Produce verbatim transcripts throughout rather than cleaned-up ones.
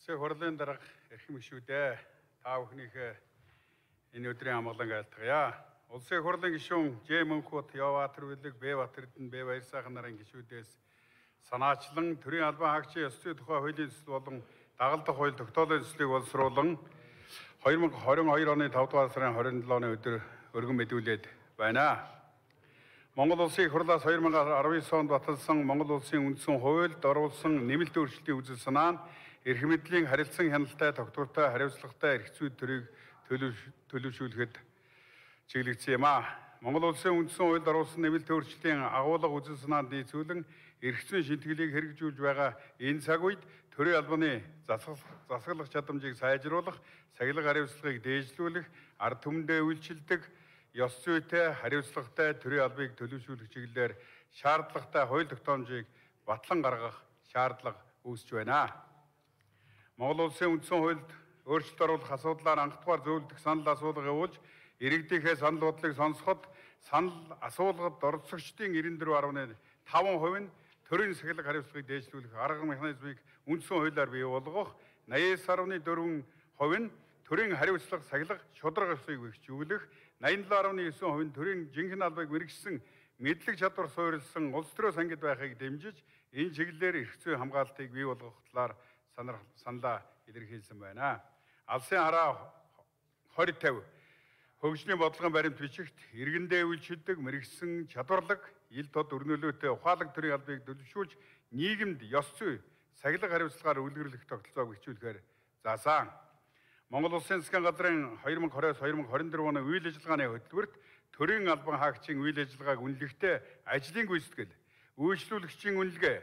Улсын хурлын дарга эрхэм гишүүдээ та бүхнийхээ энэ өдрийн амгалан айлтгая. Улсын хурлын гишүүн Ж Мөнхбат, Явбаатар Билэг, Б Батэрдэн, Б Баярсайхан нарын гишүүдээс санаачлан төрийн албан хаагчийн ёс зүйн тухай хуулийн төсөл болон дагалдах хууль тогтоолын төслийг боловсруулан хоёр мың хорин хоёр оны тавд дугаар сарын хорин долооны өдөр өргөн мэдүүлээд байна. Монгол Улсын их хурлаас хоёр мың арван девять онд баталсан Монгол Улсын үндсэн хуульд оруулсан нэмэлт өөрчлөлтийн үзэл санаа нь эрх мэдлийн харилцан хяналттай, тогтвортой, хариуцлагатай эрх зүйн төрийг төлөвшүүлэхэд чиглэгдсэн юм а. Монгол Улсын үндсэн хуульд оруулсан нэмэлт өөрчлөлтийн агуулга үзэл санаанд нийцүүлэн эрх зүйн шинтгэлийг хэрэгжүүлж байгаа энэ цаг үед төрийн албаны засаглах чадамжийг сайжруулах, сахилга хариуцлагыг дээшлүүлэх, ард түмэндээ үйлчилдэг, ёс зүйтэй, хариуцлагатай төрийн албыг төлөвшүүлэх чиглэлээр шаардлагатай хууль тогтоомжийг батлан гаргах шаардлага үүсэж байна. Монгол Улсын үндсэн хуульд өөрчлөлт оруулах асуудлаар анхдугаар зөвлөдөх санал асуулга явуулж, иргэдийнхээ санал бодлыг сонсоход санал асуулгад оролцогчдын девяносто четыре гаруй таван хувь нь төрийн сахилга хариуцлагыг дээшлүүлэх арга механизмыг үндсэн хуулиар бий болгох, наясаар дөрвөн хувь нь төрийн хариуцлага сахилга шударга ёсыг бэхжүүлэх, найман долоо гаруй девять хувь нь төрийн жинхэнэ албыг мэрэгсэн мэдлэг чадвар суурилсан улс төрөө сангид байхыг дэмжиж, энэ чиглэлээр эрх зүйн хамгаалтыг бий болгох талаар саналаа илэрхийлсэн байна. Алсын хараа хорь тавь хөгжлийн бодлогын баримт бичигт иргэндээ үйлчилдэг, мэрэгсэн чадварлаг, ил тод өрнөлөөтэй ухаалаг төрийн албыг төлөвшүүлж, нийгэмд ёс зүй, сахилга хариуцлагаар үлгэрлэх тогтолцоог бичүүлэхээр заасан. Монгол Улсын засгийн газрын хоёр мың двадцать хоёр мың двадцать четыре оны үйл ажиллагааны хөтөлбөрт төрийн албан хаагчийн үйл ажиллагааг үнэлэхдээ ажлын гүйцэтгэл, үйлчлүүлэгчийн үнэлгээ,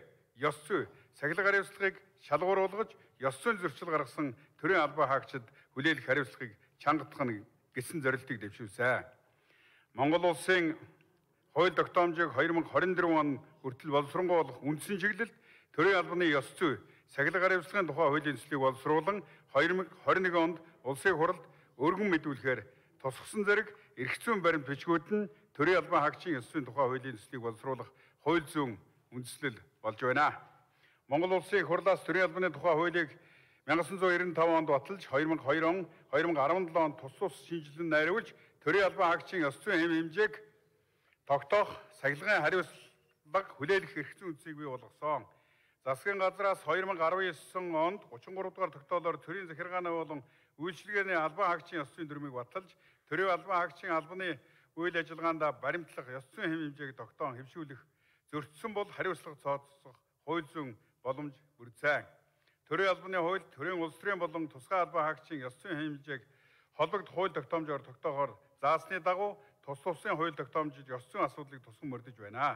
ёс зүй, сахилга хариуцлагыг шалгууруулгаж, ёс зүйн зөрчил гаргасан төрийн албан хаагчид хүлээлгэх хариуцлагыг чангатгах нь гэсэн зорилтыг дэвшүүлсэн. Монгол Улсын хууль тогтоомжийг хоёр мың двадцать четыре он хүртэл боловсронгуй болох үндсэн чиглэлд төрийн албаны ёс зүй, сахилга хариуцлагын тухай хуулийн төслийг боловсруулан хоёр мың двадцать нэг онд Улсын хурлд өргөн мэдүүлэхээр тусгасан зэрэг эрх зүйн баримт бичгүүд нь төрийн албан хаагчийн ёс зүйн тухай хуулийн төслийг боловсруулах хууль зүйн үндэслэл болж байна. Монгол Улсын их хурлаас төрийн албаны тухай хуулийг мянга тоғыз жүз девяносто таван онд баталж, хоёр мың хоёр он, хоёр мың дөрвөн онд тус тус шинжилэн найруулж, төрийн албан хаагчийн ёс зүйн хэм хэмжээг тогтоох, сахилгын хариуцлага хүлээлгэх эрх зүйн үндсийг бий болгосон. Засгийн газраас хоёр мың дөрвөн онд гучин гурав дугаар тогтоолоор төрийн захиргааны болон үйлчилгээний албан хаагчийн ёс зүйн дүрмийг баталж, төрийн албан хаагчийн албаны үйл ажиллагаанд баримтлах, ёс зүйн хэм хэмжээг тогтоон хэвшүүлэх, зөрчсөн бол хариуцлага цооцох хууль зүйн боломж бүрдсэн. Төрийн албаны хууль, төрийн улс төрийн болон тусгай албан хаагчийн ёс зүйн хэм хэмжээг холбогд хууль тогтоомжоор тогтоохоор заасны дагуу тус тусын хууль тогтоомжид ёс зүйн асуудлыг тусган мөрдөж байна.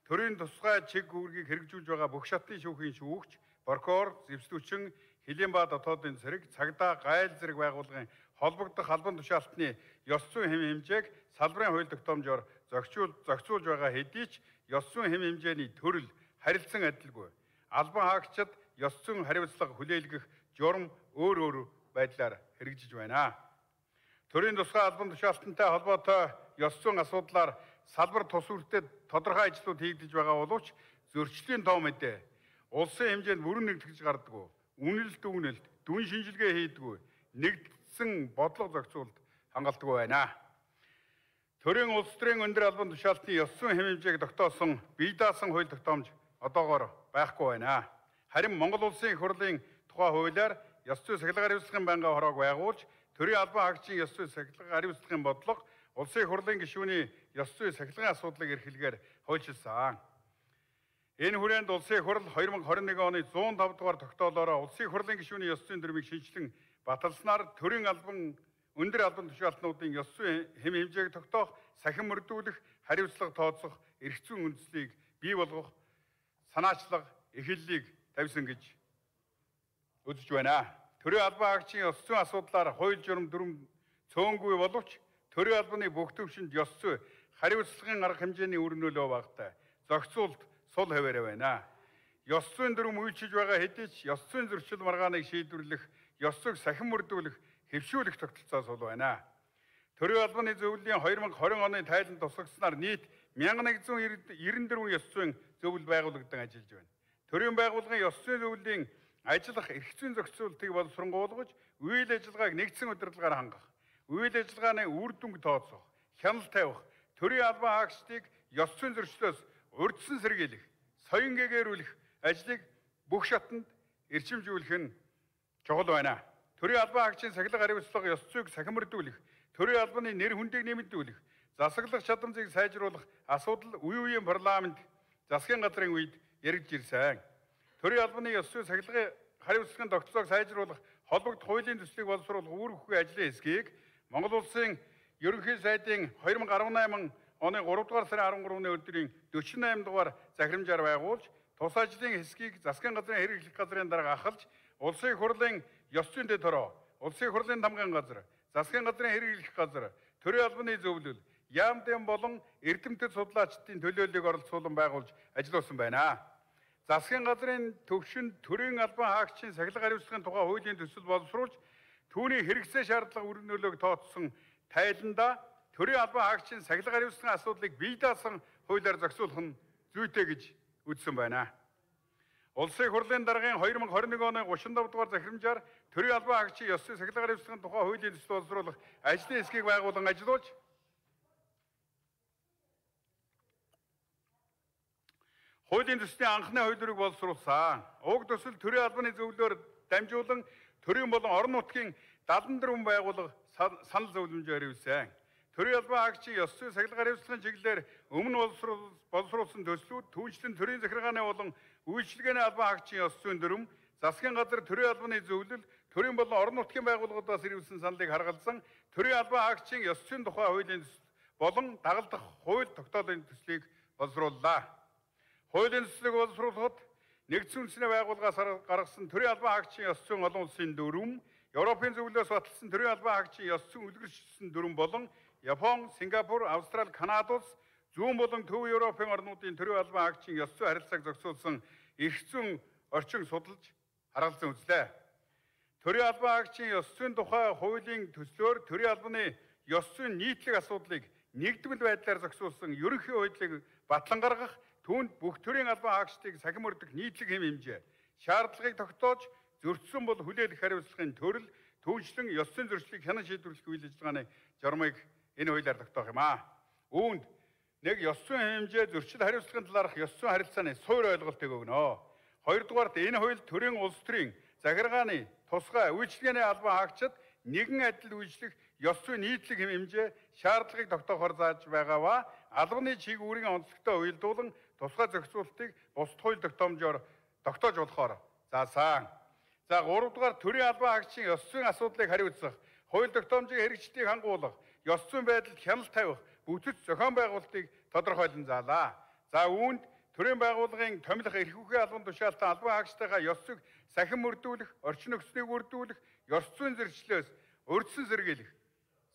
Төрийн тусгай чиг үүргийг хэрэгжүүлж байгаа бүх шатны шүүхийн шүүгч, прокурор, зэвсдүүчин, Хөлийн ба дотоодын цэрэг, цагдаа, гайл зэрэг байгууллагын холбогдох албан тушаалтны ёс зүйн хэм хэмжээг салбарын хууль тогтоомжоор зохицуулж байгаа хэдий ч ёс зүйн хэм хэмжээний төрөл харилцан адилгүй. Албан хаагчид ёс зүйн хариуцлага хүлээлгэх журам өөр өөр байдлаар хэрэгжиж байна. Төрийн тусгай албан тушаалтантай холбоотой ёс зүйн асуудлаар салбар тус үртэд тодорхой ажлууд хийгдэж байгаа боловч зөрчлийн тоо мэдээ улсын хэмжээнд бүрэн нэгтгэж гардаггүй, үнэлэлт үнэлэлт, дүн шинжилгээ хийдэггүй, нэгдсэн бодлого зохицуулалт хангалтгүй байна. Төрийн улс төрийн өндөр албан тушаалтны ёс зүйн хэм хэмжээг тогтоосон бие даасан хууль тогтоомж одоогоор байхгүй байна. Харин Монгол Улсын их хурлын тухай хуулиар ёс зүйн сахилга хариуцлагын байнгын хороог байгуулж, төрийн албан хаагчийн ёс зүйн сахилга хариуцлагын бодлого Улсын их хурлын гишүүний ёс зүйн сахилгын асуудлыг эрхлэгээр хуульчилсан. Энэ хүрээнд Улсын их хурл хоёр мың двадцать нэг оны зуун тавд дугаар тогтоолоор Улсын их хурлын гишүүний ёс зүйн дүрмийг шинжилэн баталснаар төрийн албан өндөр албан тушаалтнуудын ёс зүйн хэм хэмжээг тогтоох, сахин мөрдүүлэх, хариуцлага тооцох, эрх зүйн үндслийг бий болгох санаачлага эхэллийг тавьсан гэж үзэж байна. Төрийн албан хаагчийн ёс зүйн асуудлаар хууль журам дүрм цөөнгүй боловч төрийн албаны бүх төвшөнд ёс зүй, хариуцлагын арга хэмжээний өрнөлөө багтай зохицуулалт сул хэвээрээ байна. Ёс зүйн дүрм үйлчилж байгаа хэдий ч ёс зүйн зөрчил маргааныг шийдвэрлэх, ёс зүйг сахин мөрдүүлэх, хэвшүүлэх тогтолцоо сул байна. Төрийн албаны зөвлөлийн хоёр мың двадцать оны тайланд тусгагчнаар нийт мянга нэг зуун девяносто дөрвөн ёс зүйн зөвлөл байгуулагдсан ажиллаж байна. Төрийн байгууллагын ёс зүйн зөвлөлийн ажиллах эрх зүйн зохицуултыг боловсронгуулгаж, үйл ажиллагааг нэгдсэн удирдлагаар хангах, үйл ажиллагааны үр дүнг тооцох, хяналт тавих, төрийн албан хаагчдыг ёс зүйн зөрчлөөс урьдчилан сэргийлэх, соён гээгээрүүлэх ажлыг бүх шатанд эрчимжүүлэх нь чухал байна. Төрийн албан хаагчийн сахилга хариуцлага ёс зүйг сахимардуулах, төрийн албаны нэр хүндийг нэмэгдүүлэх, засаглах чадамжийг сайжруулах асуудал үе үеийн парламент засгийн газрын үед яригдж ирсэн. Төрийн албаны ёс зүйн сахилгын хариуцлагын тогтолцоог сайжруулах, холбогдох хуулийн төслийг боловсруулах үүрэг бүхий ажлын хэсгийг Монгол Улсын ерөнхий сайдын two thousand eighteen оны three дугаар сарын twelve-ны өдрийн forty-eight дугаар захирамжаар байгуулж, тус ажлын хэсгийг засгийн газрын хэрэглэх газрын дарга ахалж, улсын их хурлын ёс зүйн дэд хороо, улсын их хурлын тамгын газар, засгийн газрын хэрэглэх газар, төрийн албаны зөвлөл, яамдын болон эрдэмтэд судлаачдын төлөөллийг оролцуулан байгуулж ажилласан байна. Засгийн газрын төвшөнд төрийн албан хаагчийн сахилга хариуцлагын тухай хуулийн төсөл боловсруулж, түүний хэрэгцээ шаардлага үр нөлөөг тооцсон тайланда төрийн албан хаагчийн сахилга хариуцлагын асуудлыг бие даасан хуулиар зохицуулах нь зүйтэй гэж үзсэн байна. Улсын их хурлын даргын twenty twenty-one оны thirty-five дугаар захирамжаар төрийн албан хаагчийн ёс зүйн сахилга хариуцлагын тухай хуулийн төсөл боловсруулах ажлын хэсгийг байгуулан ажиллуулж, хуулийн төслийн анхны хувилбарыг боловсруулсан. Уг төсөл төрийн албаны зөвлөлөөр дамжуулан төрийн болон орон нутгийн seventy-four хүн байгууллага санал зөвлөмжөөр ирсэн. Төрийн албан хаагчийн ёс зүйн сахилга хариуцлагын чиглэлээр өмнө боловсруулсан төслүүд түүнчлэн төрийн захиргааны болон үйлчилгээний албан хаагчийн ёс зүйн дүрм, засгийн газар төрийн албаны зөвлөл, төрийн болон орон нутгийн байгууллагуудаас ирүүлсэн саналыг харгалзан төрийн албан хаагчийн ёс зүйн тухай хуулийн болон дагалдах хууль тогтоолын төслийг боловсрууллаа. Хуулийн төслийг боловсруулахад нэгдсэн үндэсний байгууллагаас гаргасан төрийн албан хаагчийн ёс зүйн олон улсын дүрм, Европын зөвлөлөөс баталсан төрийн албан хаагчийн ёс зүйн үлгэршсэн дүрм болон Япон, Сингапур, Австрали, Канада улс, зүүн болон төв Европын орнуудын төрийн албан хаагчийн ёс зүйн харилцааг зохицуулсан эрх зүйн орчин судалж харгалзан үзлээ. Төрийн албан хаагчийн ёс зүйн тухай хуулийн төслөөр төрийн албаны ёс зүйн нийтлэг асуудлыг нэгдмэл байдлаар зохицуулсан ерөнхий хуулийг батлан гаргах, түүнд бүх төрийн албан хаагчдыг сахим өрдөх нийтлэг хэм хэмжээ, шаардлагыг тогтоож зөрчсөн бол хүлээлгэх хариуцлагын төрөл, түүнчлэн ёс зүйн зөрчлийг хянан шийдвэрлэх үйл ажиллагааны журмыг энэ хуулиар тогтоох юм аа. Үүнд нэг ёс зүйн хэмжээ зөрчил хариуцлагын талаарх ёс зүйн харилцааны суур ойлголтыг өгнө. Хоёрдугаарт энэ хууль төрийн улс төрийн захиргааны тусгай үйлчилгээний албан хаагчид нэгэн адил үйлчлэх ёс зүйн нийтлэг хэм хэмжээ, шаардлагыг тогтоохоор зааж байгаа ба албаны чиг үүргийн онцлогтой уялдуулан тусгай зохицуултыг бусад хууль тогтоомжоор тогтоож болохоор заасан. За гурав дугаар төрийн албан хаагчийн ёс зүйн асуудлыг хариуцах, хууль тогтоомжийн хэрэгжлийг хангуулах, ёс зүйн байдалд хяналт тавих, бүтэц зохион байгуулалтыг тодорхойлон заалаа. За үүнд төрийн байгууллагын томилох эрх үхээ албан тушаалтан албан хаагчтайгаа ёс зүйг сахин мөрдүүлэх, орчин нөхцөлийг үрдүүлэх, ёс зүйн зөрчлөөс урьдчилан сэргийлэх,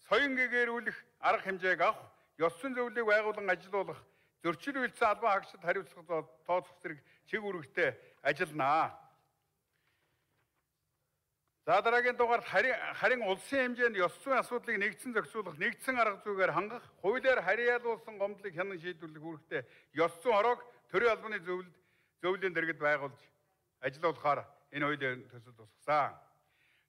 соён гээгээрүүлэх арга хэмжээг авах, ёс зүйн зөвлөлийг байгуулан ажилуулах, зөрчил үйлдсэн албан хаагчид хариуцлага тооцох зэрэг чиг үүрэгтэй ажилланаа. За дараагийн дугаарт харин улсын хэмжээнд ёс зүйн асуудлыг нэгдсэн зохицуулах, нэгдсэн арга зүйгээр хангах, хуулиар харьяалуулсан гомдлыг хянан шийдвэрлэх үүрэгтэй ёс зүйн хороог төрийн албаны зөвлөлд зөвлөлийн дэргэд байгуулж ажиллуулахаар энэ хуулийн төсөл тусгасан.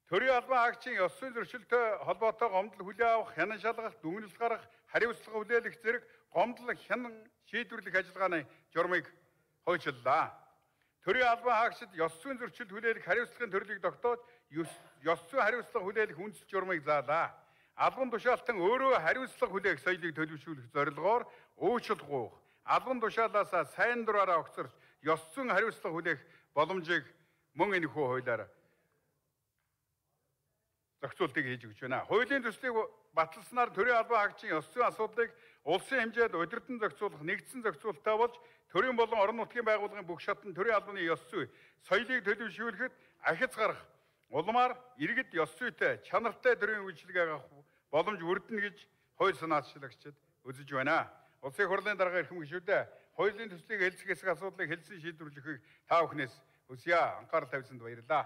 Төрийн албан хаагчийн ёс зүйн зөрчилтэй холбоотой гомдол хүлээн авах, хянан шалгах, дүгнэлт гаргах, хариуцлага хүлээлгэх зэрэг гомдол хянан шийдвэрлэх ажиллагааны журмыг хуульчлалаа. Төрийн албан хаагчид ёс зүйн зөрчилд хүлээлгэх хариуцлагын төрлийг тогтоож, ёс зүйн хариуцлага хүлээлгэх үндэс журмыг заалаа. Албан тушаалтан өөрөө хариуцлага хүлээх соёлыг төлөвшүүлэх зорилгоор уучлал гуйх, албан тушаалаасаа сайн дураараа огцорч ёс зүйн хариуцлага хүлээх боломжийг мөн энэ хүү хуулиар зохицуултыг хийж өгч байна. Хуулийн төслийг баталснаар төрийн албан хаагчийн ёс зүйн асуудлыг улсын хэмжээнд удирдан зохицуулах, нэгдсэн зохицуулалттай болж төрийн болон орон нутгийн байгууллагын бүх шатнд төрийн албаны ёс зүй соёлыг төлөвшүүлэхэд ахиц гарах, улмаар иргэд ёс зүйтэй, чанартай төрийн үйлчилгээг авах боломж өрдөнө гэж хууль санаачлагчид үзэж байна. Улсын хурлын дарга эрхэм гишүүдээ хуулийн төслийг хэлцэх хэсэг асуудлыг хэлсэн шийдвэрлэхийг та бүхнээс хүсье. Анхаарал тавьсанд баярлалаа.